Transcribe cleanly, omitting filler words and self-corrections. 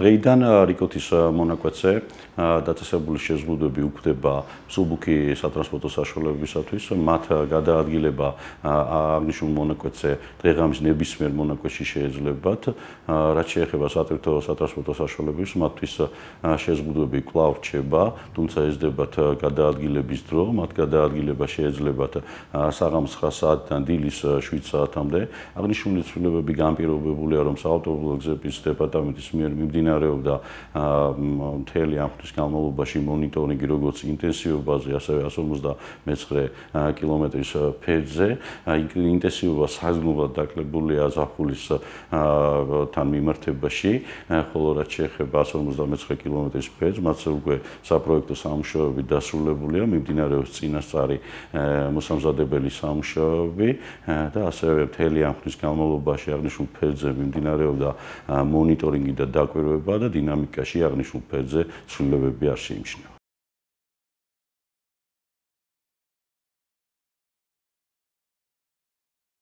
დღეიდან რიკოთის მონაკვეთზე დაწესებული შეზღუდვები უქმდება მსუბუქი სატრანსპორტო საშუალებებისათვის, მათ გადაადგილება აღნიშნულ მონაკვეთზე დღე-ღამის ნებისმიერ მონაკვეთში შეეძლებათ, რაც შეეხება სატრანსპორტო საშუალებებს, მათთვის შეზღუდვები კვლავ რჩება, თუმცა ეზრდებათ გადაადგილების დრო, მათ გადაადგილება შეეძლებათ საღამოს 9 საათიდან დილის 7 საათამდე. აღნიშნული ცვლილებები განპირობებულია, რომ საავტომობილო გზების დეპარტამენტის მიერ მიმდინარეობდა მთელი ამ ხნის განმავლობაში მონიტორინგი როგორც ინტენსივობაზე, ასევე 159 კილომეტრის ფერზე. ინტენსივობა საგრძნობლად დაკლებულია ზაფხულის თან მიმართებაში, ხოლო რაც შეეხება 159 კილომეტრის ფერს, მათ უკვე საპროექტო სამუშაოები დასრულებულია, მიმდინარეობს წინასწარი მოსამზადებელი სამუშაოები და ასევე მთელი ამ ხნის განმავლობაში აღნიშნულ ფერზე მიმდინარეობდა მონიტორინგი და დაკვირვება და დინამიკაში აღნიშნულ ფერზე ცვლილებები არ შეიმჩნევა.